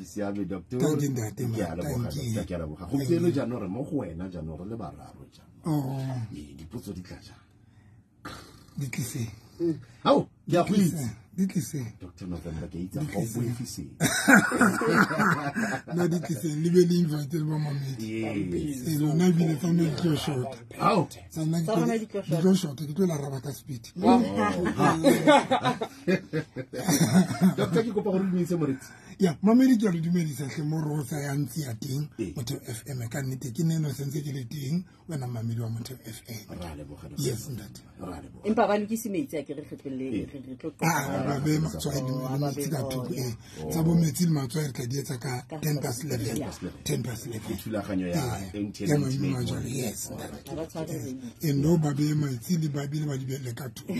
Siame doctor. Ke a leboga. Gompieno jaanong re mo go wena jaanong re le bararo jaanong. Ee, dipotso di tla jang? Di tliseng. Ao, ke a go itse. Di tliseng. Dr. November ke itse ga o boifiseng. No, di tliseng le be le invite le ba mamedi. Ee, lona ebile tsa nna di tlo shota. Ao. Tsa nna di tlo shota, ke tlo la raba ka speed. Doctor, ke kopa gore o dumedise moretsi. Ya, mamedi ke a le dumedisa hle mo rosa ya ntsi ya teng, Motheo FM ka nnete ke neno sentse ke le teng wena mamedi wa Motheo FM. Ra leboga. Yes, ntate. Ra leboga. Empa ba lokise metsi a ke re kgetlong le re tlo Ah, ba be matswai le metsi ka thoko e. Tsa bo metsi le matswai re tla di etsa ka 11:10. 11:10. Thulaganyo ya MTN Ya mmino wa jwale, yes. Ha ba tshware ready. E no ba be metsi le ba bile ba di beele ka thoko.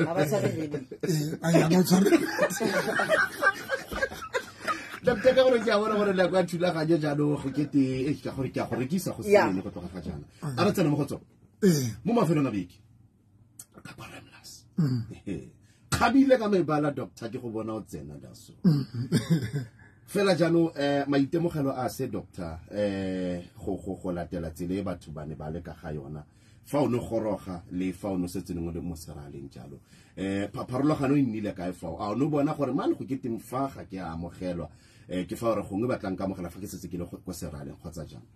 Ha ba tshware ready. Eh, a ya ba tshware. Doctor, ka gore ke a bona gore nako ya thulaganyo jaanong go kete e ka gore ke a go rekisa go sene go tloga fa jaana. A re tsena mo go tsone. Mo mafelong a beke ka kwa Ramlas. Kgabile ka mebala doctor ke go bona o tsena daso. Fela jaanong maitemogelo a se doctor go latela tsela e batho ba ne ba le ka ga yona fa o ne goroga le fa o ne setse nngwe le mo seraleng jalo. Pharologano e nnile kae fao? A o ne bona gore mane go ke teng fa ga ke a amogelwa ke fa gore gongwe ba tla nka amogela fa ke setse ke le ko seraleng kgotsa jang?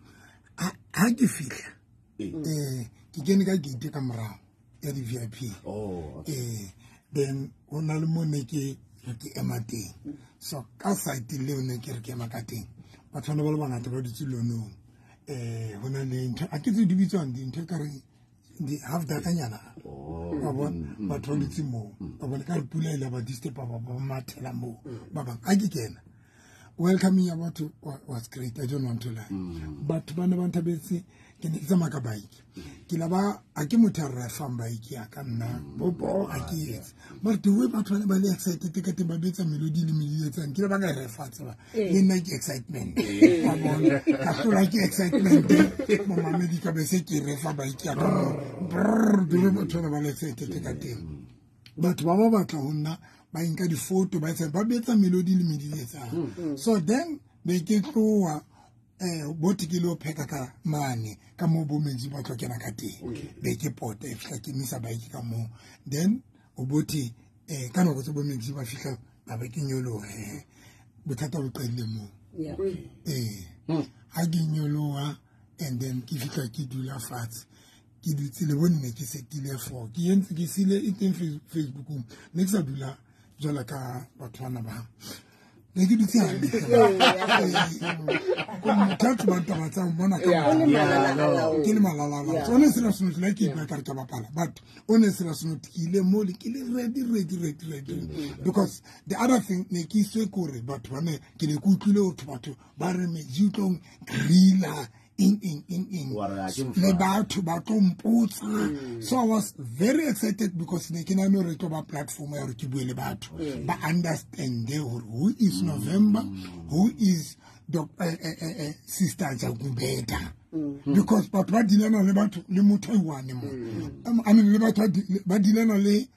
Ha ke fitlha ke kene ka gate ka morago ya di VIP. Oh, okay. Then ho na le mo ne ke re ke ema teng. So ka side leo ne ke re ke ema ka teng, batho ba le bangata ba dutse lonong. Ho na le ntho a ke tse di bitswang dintho ka re di half dakanyana. Wa bona batho ba dutse moo. Wa bona ka re pula ile ba disturb ba ba mathela moo. Ba bang a ke kena. Welcoming ya batho was great. I don't want to lie. Batho ba ne ba nthabetse ke ne ke tsamaya ka bike. Ke la ba a ke motho a refang bike ya ka nna. Bo bo a ke etse. But the way batho ba ne ba le excited ka teng ba betsa melody le melody e tsang ke la ba ka refa tseba. Le nna ke excitement. Wa bona ka hlola ke excitement. Mo mamedi ka be se ke refa bike ya ka. Brrr, the way batho ba ne ba le excited ka teng. Batho ba ba batla ho nna ba nka di-photo ba etsa ba betsa melody le melody e tsang. So then be ke tloha bothi ke lo pheka ka mane ka mo bo metsi ba tlo kena ka teng. Be ke pota e fihla ke misa bike ka mo. Then o bothi ka nako tse bo metsi ba fihla ba be ke nyoloha bothata bo qadile mo. Ha ke nyoloha and then ke fihla ke dula fatshe. Ke dutse le bonne ke setile for ke entse ke sile e teng Facebookong ne ke sa dula jwalo ka batho bana ba ne ke dutse hantle. Ko motho a tsebang taba tsa ho bona ka mona. Ke le malalala. So, o ne sena seno le ke ipua ekare ke a bapala, but o ne sena seno ke ile mo le ke le ready, ready, ready, ready. Because the other thing ne ke iswe ke hore batho ba ne ke ne ke utlwile ho thwe batho ba re metsi o tlo griller eng, eng, eng, eng. Wa re, a ke Le mfa. batho ba tlo mpotsa. So I was very excited because ne ke nahane hore e tlo ba platform ya hore ke bue le batho. Ba understand hore who is November, who is Sister Jakubeta. Because batho ba dealana le batho le motho a one mo. I mean le batho ba dealana le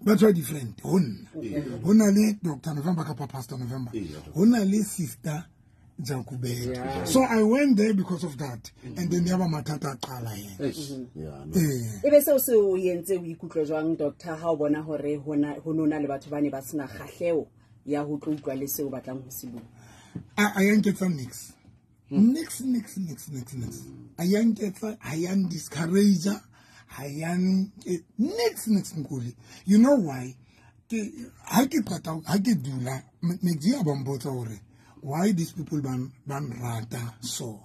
batho ba different ho nna. Ho na le Doctor November kapa Pastor November. Ho na le Sister Jakubeta. So I went there because of that. And then ya ba mathata a qala he. Eish. Yeah, no. E be seo se o entse o ikutlwe jwang doctor ha o bona hore ho nona le batho ba ne ba sena kgahleho ya ho tlo utlwa le seo o batlang ho se bua? A ya nketsa nix. Nix, nix, nix, nix, nix. A ya nketsa, ha ya discourage, ha ya nix, nix nkole. You know why? Ke ha ke qeta, ha ke dula, metsi a ba mpotsa hore why these people ban rata so.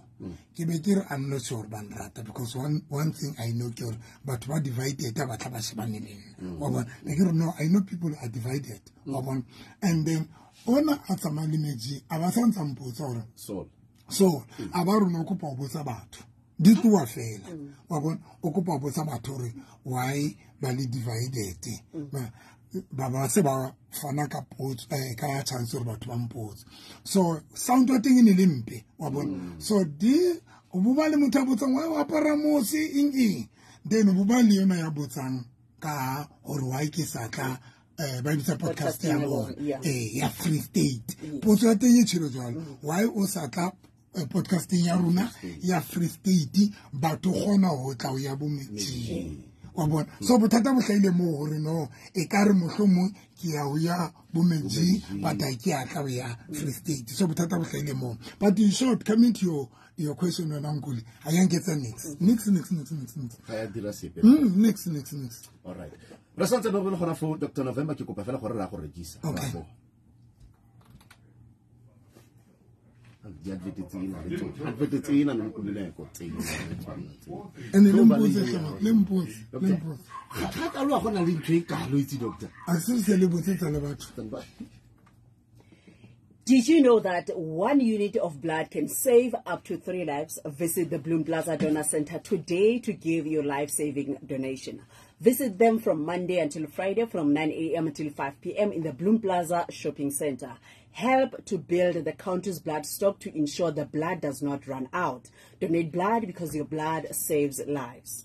Ke be ke re I'm not sure ban rata because one thing I know ke hore batho ba divided ba tla ba shebane le nna. Wa bona? Be ke re no, I know people are divided. Wa bona? And then ona a tsamaya le metsi a ba sa ntsa mpotsa hore Saul. So, a ba rona o kopa ho botsa batho. Di tloha fela. Wa bona? O kopa ho botsa batho hore why ba le divided. Ba se ba fana ka potso, ka chance hore batho ba mpotse. So sound wa teng e ne le mpe, wa bona? So di o bo ba le motho a botsang, wa apara mose eng eng. Then o bo ba le yona ya botsang Ka hore why ke sa tla ba bitsa podcast ya bona ya Free State. Potso ya teng e tshelo jwalo, why o sa tla podcasting ya rona ya Free State, batho kgona ho tla o ya bo metsing wa bona. So bothata bo hlahile moo hore no e ka re mohlomong ke ya ho ya bo Meji, but I ke a tla ho ya Free State. So bothata bo hlahile moo. But in short, coming to your question wena Nkuli, a ya nketsa nix nix nix nix nix nix. Ga ya dira sepe. Nix nix nix. All right. Re santse re le gona fo Dr. November, ke kopa fela gore re a go rekisa. Okay. Di advert tsena le tsona. Advert tsena le Nkululeko tsena. Ene le mpotse le mpotse le mpotse. Ga ka lo go na le ntho e kalo itse doctor. A se se le botsetsa le batho. Did you know that 1 unit of blood can save up to 3 lives? Visit the Bloom Plaza Donor Center today to give your life-saving donation. Visit them from Monday until Friday from 9 a.m. until 5 p.m. in the Bloom Plaza Shopping Center. Help to build the country's blood stock to ensure the blood does not run out. Donate blood because your blood saves lives.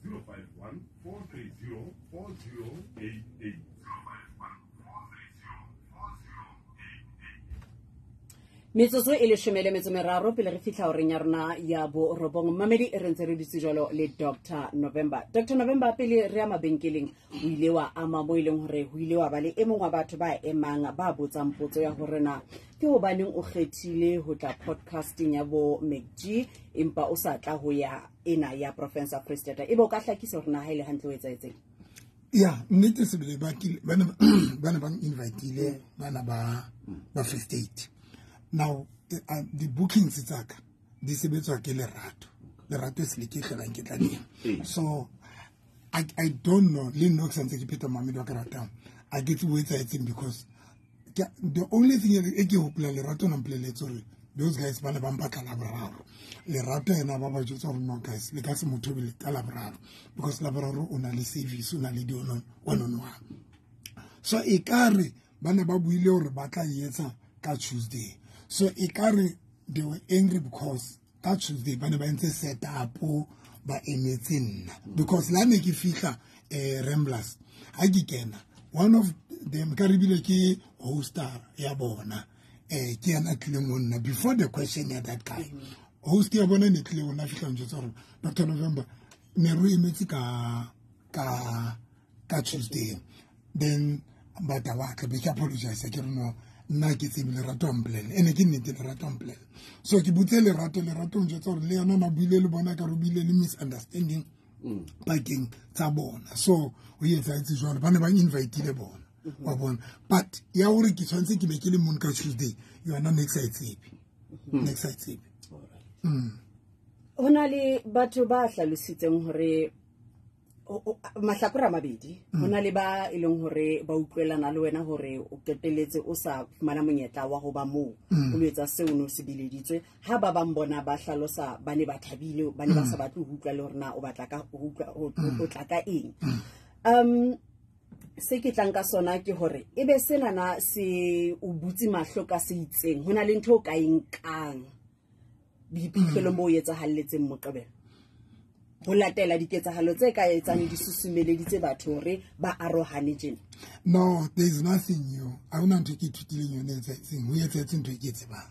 051 430 4088. 051 Metsotso e 13 pele re fihla horeng ya rona ya borobong. Mamedi re ntse re dutse jwalo le Dr. November. Dr. November, pele re ya mabenkeleng o ile wa ama mo e leng hore ho ile wa ba le e mong wa batho ba emang ba botsang potso ya hore na ke hobaneng o kgethile ho tla podcasting ya bo MacG empa o sa tla ho ya ena ya Professor Freestata. Ebe o ka hlakisa hore na ha ile hantle o etsahetseng? Ya, nnete sebele ba ne ba invitile bana ba Free State. Now, the bookings tsaka di sebetswa ke Lerato. Lerato e se ke hlolang ke tla teng. So I don't know, le nna ke santse ke pheta mamedi wa ka ratang. A ke tsebe ho etsahetseng because the only thing e ke hopola Lerato na mpoleletse hore those guys ba ne ba mpatla Laboraro. Lerato yena ba ba jwetsa hore no guys, le ka se mo thobele ka Laboraro because Laboraro o na le service, o na le di one on one. So ekare ba ne ba buile hore ba tla etsa ka Tuesday. So ekare they were angry because ka Tuesday ba ne ba entse set up ba emetse nna because la ne ke fihla Ramblers ha ke kena, one of them ka rebile ke hoster ya bona, ke yena tlileng ho nna before the question ya that guy. Host ya bona ne tlile hona fihla njotsa hore Dr. November ne re emetse ka Tuesday, then but wa tla be ke apologize ke re no nna ke tsebe Lerato mpolelle, ene ke nnete Lerato mpolelle. So ke botse Lerato njotsa hore le yona na buile le bona ka robile le misunderstanding pakeng tsa bona. So ho etsahetse jwalo, ba ne ba invitile bona wa bona, but ya hore ke tshwanetse ke be ke le mono ka Tuesday yona ne ke sa e tsebe, ne ke sa e tsebe. Ho na le batho ba hlalositseng hore mahlakore a mabedi, ho na le ba e leng hore ba utlwelana le wena hore o qetelletse o sa fumana monyetla wa ho ba moo o lo etsa seo no se bileditswe, ha ba bang bona ba hlalosa ba ne ba thabile, ba ne ba sa batle ho utlwa le hore na o batla ka ho utlwa o tla ka eng. Se ke tlang ka sona ke hore ebe senana se o butse mahlo ka se itseng, ho na le ntho o ka e nkang boiphihlelong bo etsahalletseng Moqebelo ho latela diketsahalo tse ka etsang di susumeleditse batho hore ba arohane tjena? No, there is nothing new. Ha hona ntho e ke ithutileng yone e etsahetseng, ho etsahetse ntho e ke e tsebang.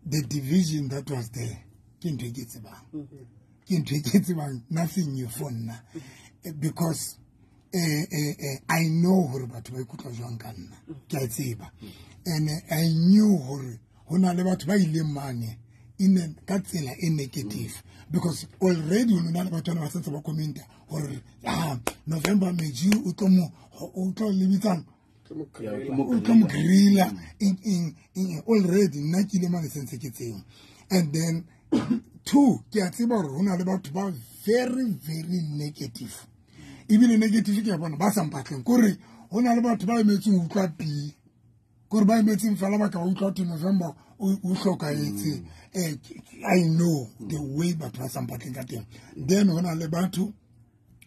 The division that was there ke ntho e ke e tsebang. Ke ntho e ke e tsebang, nothing new for nna. Because I know hore batho ba ikutlwa jwang ka nna, ke a tseba. And I knew hore ho na le batho ba ileng mane in ka tsela e negative because already o na le batho ba sentse ba commenta hore November Meji o tlo mo o tlo lebitsang o tlo mo grilla in already nna ke ile mane sentse ke tseo. And then two, ke a tseba hore ho na le batho ba very very negative, ebile negative ke a bona ba sa mpatleng, kore ho na le batho ba emetseng ho utlwa pi, kore ba emetseng fela ba ka utlwa to November o hlokahetse. I know the way batho ba sa mpatleng ka teng. Then ho na le batho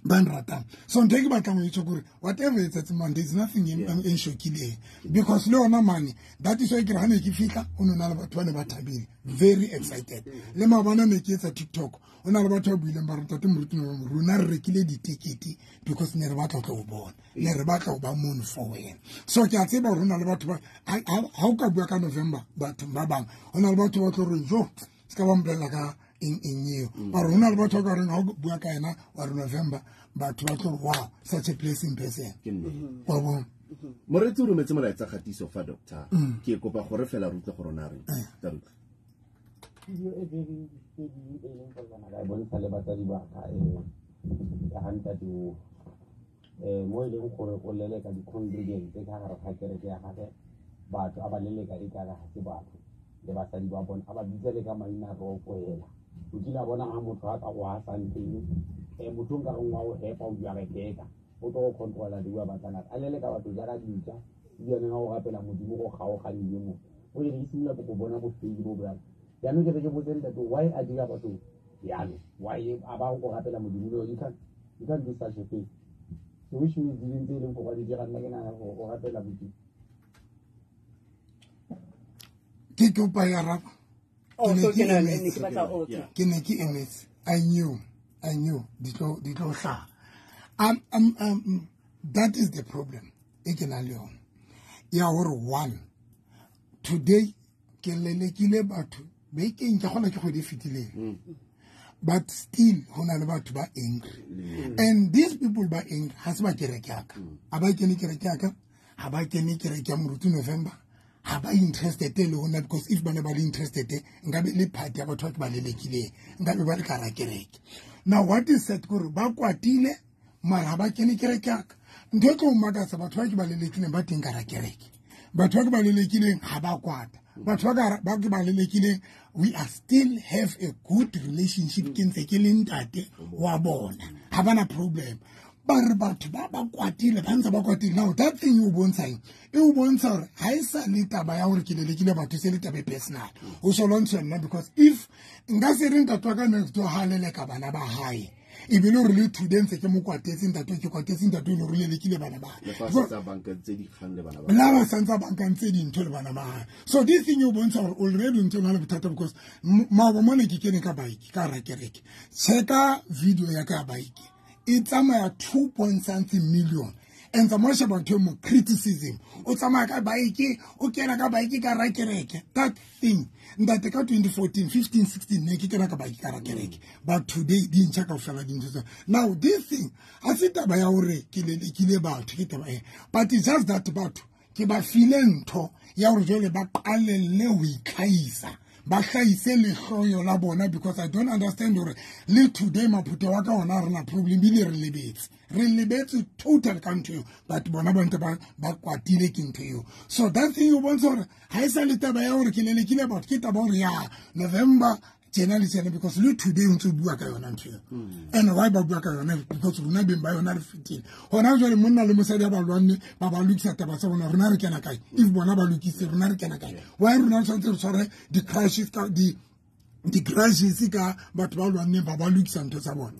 ba nratang. So ntho e ke batlang ho etsa kore whatever etsahetseng mane, there is nothing e nshokileng because le yona mane, that is why ke re ha ne ke fihla ho no na le batho ba ne ba thabile, very excited. Le maobane ne ke etsa TikTok, ho na le batho ba buileng ba re ntate Moruti November rona re rekile ditekete because ne re batla ho tlo o bona, ne re batla ho ba mono for wena. So ke a tseba hore ho na le batho ba ha o ka bua ka November bathong ba bang, ho na le batho ba tlo reng jo se ka ba mpolella ka eng eng eo, mara ho na le batho ba ka reng ha o bua ka yena wa re November, batho ba tlo re wow, such a blessing person. Wa bona. Moretsi o rometse molaetsa kgatiso fa doctor, ke kopa gore fela re utlwe gore o na reng. Tla re utlwe. Video e very steady e leng gore bana ba e bontsha le batsadi ba ka ya ga ntate oo, mo e leng gore o leleka di-congregant tse ka gare ga kereke ya gagwe, batho a ba leleka e kare ga se batho le basadi ba bona, a ba bitsa le ka maina a ropo hela. O kile a bona ga motho a ka go hasang teng, motho o nka reng wa o hepa o bua re keka, o tlo go controla di bua batlana, a leleka batho jaaka dintša, ebile ga o rapela Modimo go kgaoganyiwe mo. O re ke simolola go bona bofeile bo bjalo. Jaanong ke re ke botse ntate, why a dira batho jalo? Why a ba go rapela Modimo? No, you can't do such a thing. So which means di tse e leng gore di dira nna ke nagana gore o rapela Modimo. Ke kopa ya rapa. Ke ne ke emetse. I knew di tlo hlaha. That is the problem e ke nang le yona. Ya hore one, today Ke lelekile batho bekeng ke kgona ke kgwedi e fetileng. But still ho na le batho ba angry. And these people ba angry ha se ba kereke ya ka. Ha ba kene kereke ya ka, ha ba kene kereke ya Moruti November, ha ba interested le hona, because if ba ne ba le interested nkabe le party ya batho ba ke ba lelekileng, nkabe ba le ka hara kereke. Now what is said kore ba kwatile mara ha ba kene kereke ya ka. Ntho e tlo makatsa, batho ba ke ba lelekileng ba teng ka hara kereke. Batho ba ke ba lelekileng ha ba kwata. Batho ba ke ba lelekileng, we are still have a good relationship. Ke ntse ke le ntate wa bona, ha bana problem. Ba re batho ba ba kwatile, ba ntse ba kwatile. Now that thing e o bontsha eng? E o bontsha hore ha e sa le taba ya hore ke lelekile batho, se le taba e personal. Ho so lwantsha nna, because if nka se re ntate wa ka next door ha leleka bana ba hae, e be le hore le today ntse ke mo kwatetse ntate, ke kwatetse ntate o le hore lelekile bana ba hae. Le fa sa bankantse dikgang le bana ba La ba santse bankantse dintho le bana ba hae. So this thing e o bontsha hore already ntse o na le bothata, because maoba mona ke kene ka bike ka hara kereke. Checka video ya ka bike, e tsamaya 2 point something million. And tsamaya sheba ntho e mo criticism, o tsamaya ka bike, o kena ka bike ka hara kereke. That thing ntate ka 2014, 15, 16 ne ke kena ka bike ka hara kereke, but today di ntjha kaofela dintho tsena. Now this thing ha se taba ya hore ke lelekile batho, ke taba e, but it's just that batho ke ba file ntho ya hore jwale ba qalelle ho itlhahisa, ba hlahise lehloyo la bona, because I don't understand hore le today Maphutha wa ka ona ha rena problem, ebile re lebetse, re lebetse total ka ntho eo, but bona ba ntse ba kwatile ke ntho eo. So that thing o bontsha hore ha e sa le taba ya hore ke lelekile batho, ke taba hore ya November tjena le tjena, because le today o ntse o bua ka yona ntho eo. And why ba bua ka yona? Because rona beng ba yona re fetile. Hona jwale monna le mosadi ha ba lwanne, ba ba lokisa taba tsa bona, rona re kena kae? If bona ba lokise, rona re kena kae? Why rona re tshwanetse re tshware di-crashes ka di-crashes ka batho ba lwanneng, ba ba lokisa ntho tsa bona?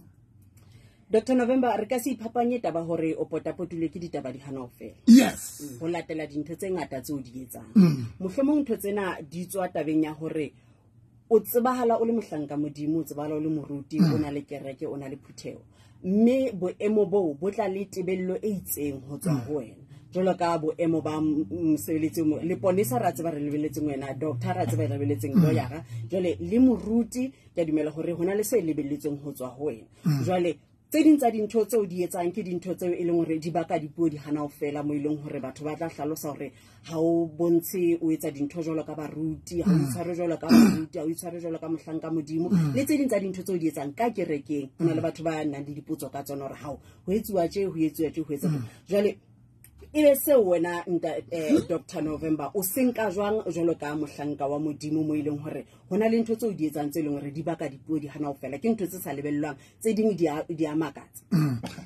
Dr. November, re ka se iphapanye taba hore o potapotilwe ke ditaba di hana ho fela. Yes. Ho latela dintho tse ngata tseo di etsang. Mohlomong ntho tsena di tswa tabeng ya hore o tsebahala o le mohlanka Modimo, o tsebahala o le moruti, o na le kereke, o na le phutheho. Mme boemo boo bo tla le tebello e itseng ho tswa ho wena. Jwalo ka boemo ba mosebetsi o le ponesa ra tseba re lebelletseng wena, doctor ra tseba re lebelletseng lawyer, jwale le moruti ke a dumela hore hona le se lebelletsweng ho tswa ho wena. Jwale tse ding tsa dintho tseo di etsang ke dintho tseo e leng hore di baka dipuo di hana ho fela, mo e leng hore batho ba tla hlalosa hore ha o bontshe o etsa dintho jwalo ka baruti, ha o itshware jwalo ka baruti, ha o itshware jwalo ka mohlanka Modimo, le tse ding tsa dintho tseo di etsang ka kerekeng. Ho na le batho ba nang le dipotso ka tsona hore hao ho etsuwa tje, ho etsuwa tje, ho etsuwa tje. Jwale e be seo wena Dr. November o senka jwang jwalo ka mohlanka wa Modimo, mo e leng hore ho na le ntho tseo di etsang tse leng hore di baka dipuo di hana ho fela, ke ntho tse sa lebellwang, tse ding di a makatsa.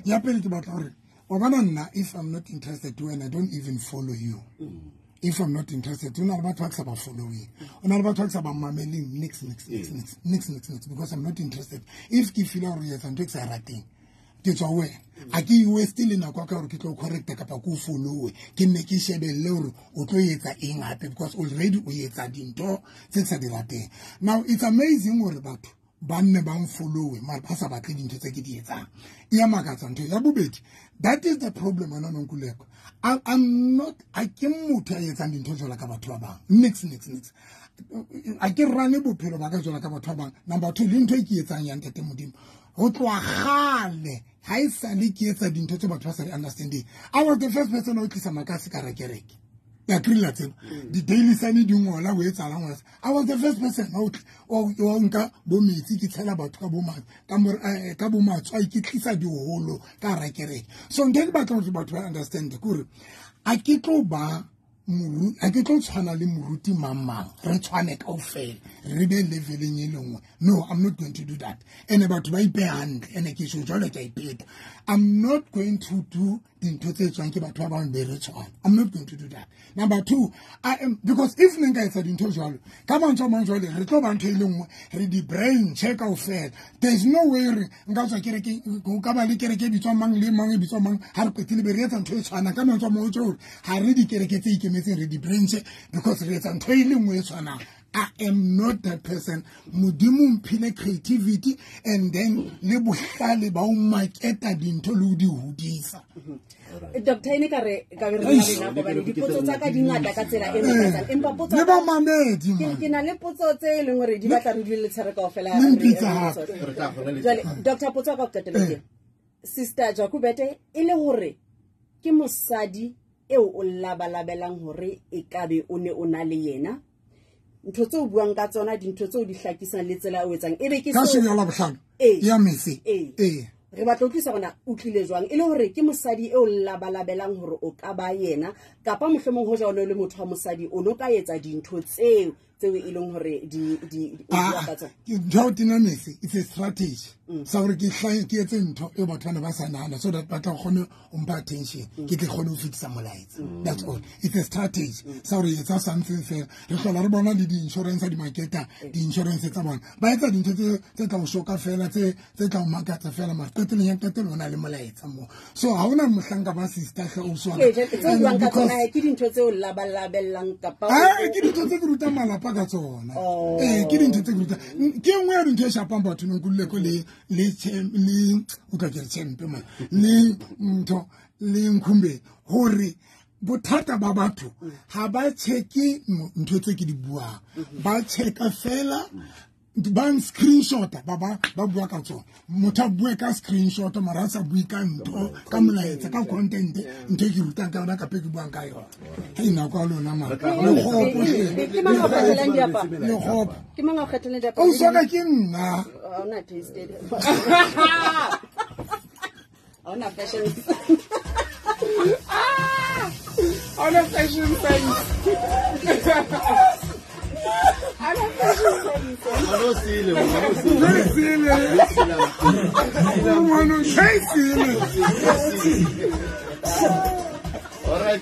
Ya pele ke batla hore wa bona nna, if I'm not interested when I don't even follow you. If I'm not interested, o na le batho ba ke sa ba following, o na le batho ba ke sa ba mameleng, nix, nix, nix, nix, nix, nix, nix, because I'm not interested. If ke feel hore o etsa ntho e ke sa e rateng, ke tswa ho wena. Ha ke e waste le nako ya ka hore ke tlo correcta kapa ke o follow-e, ke nne ke shebelle hore o tlo etsa eng hape, because already o etsa dintho tse ke sa di rateng. Now it's amazing hore batho ba nne ba nfollow-e mara ba sa batle dintho tse ke di etsang. E ya makatsa ntho ya bobedi. That is the problem wena Nonkululeko. I'm not, ha ke motho ya etsang dintho jwalo ka batho ba bang. Nix, nix, nix. Ha ke rane bophelo ba ka jwalo ka batho ba bang. Number 2, le ntho e ke etsang ya Ntate Modimo, ho tloha kgale ha e sa le ke etsa dintho tse batho ba sa di understanding. I was the first person ho tlisa makase ka hara kereke. Ya kry-a tsebo. Di-Daily Sun di ngola ho etsahalang ho etsa. I was the first person ho nka bo metsi ke tshela batho ka bo matswai, ke tlisa diholo ka hara kereke. So ntho e ke batlang hore batho ba understand ke hore ha ke tlo ba ha ke tlo tshwana le moruti mang mang, re tshwane kaofela, re be leveleng e le nngwe. No, I'm not going to do that. Ene batho ba ipeha hantle, ene ke tjho jwalo ke a ipeta. I'm not going to do dintho tse etswang ke batho ba bang be re tshwana. I'm not going to do that. Number 2, I am, because if ne nka etsa dintho jwalo, ka mantswe a mang jwale re tlo ba ntho e le nngwe, re di-branch kaofela. There is no way re nka tswa kerekeng, ho ka ba le kereke e bitswang mang le mang e bitswang mang, ha re qetile be re etsa ntho e tshwanang. Ka mantswe a mang, o tjho hore ha re dikereke tse ikemetseng, re di-branch because re etsa ntho e le nngwe e tshwanang. I am not that person. Modimo mphile creativity and then le bohlale ba o marketa dintho le o di hodisa. Doctor ene ka re ka re rena gobane dipotso tsa ka di ngata ka tsela e makatsang, empa potso le ba mamedi ke na le potso tse e leng hore di batla re dule le kaofela. Jwale Doctor, potso ka qetelo ke Sister Jacobete e le hore ke mosadi eo o labalabelang hore e kabe o ne o na le yena, ntho tse o buang ka tsona, dintho tse o di hlakisang le tsela o etsang ebe ke ka se ya la bohlano ya metse re batla ho utlwisa hore o tlile jwang, e le hore ke mosadi eo labalabelang hore o ka ba yena, kapa mohlomong ho ja o le motho wa mosadi o no ka etsa dintho tseo e leng hore di bua ka tsona. Ntho ya tena metse it's a strategy sa hore ke hlahe ke etse ntho e batho bana ba sa nahana so that ba tla kgone ho mpha attention, ke tle kgone ho fetisa molaetsa. That's all. It's a strategy sa hore etsa something fela. Re hlola re bona le di-insurance di marketa di-insurance tsa bona, ba etsa dintho tse tla o shoka fela, tse tla o makatsa fela, mara qetellong ya qetelo o na le molaetsa moo. So ha hona mohlanka ba sister hle o swana ke dintho tseo labalabellang kapa ke dintho tse ke rutang malapa ka tsona. Ke dintho tse ke rutang, ke nngwe ya dintho e shapang batho Nkululeko le le o tla ke re tšhempe man le ntho le Nkhumbe, hore bothata ba batho ha ba checke ntho tse ke di buang, ba checka fela ba screenshot ba bua ka tsona. Motho a bue ka screenshot mara a sa bue ka ntho ka molaetsa ka content ntho e ke rutang ka yona kapa ke buang ka yona. Hei nako ya lona mara lekgopo ke mang a kgethelang diaparo? Lekgopo ke mang a kgethelang diaparo? O soka ke nna. Ha ona taste, ha ona fashion, ha ona fashion sense. All right.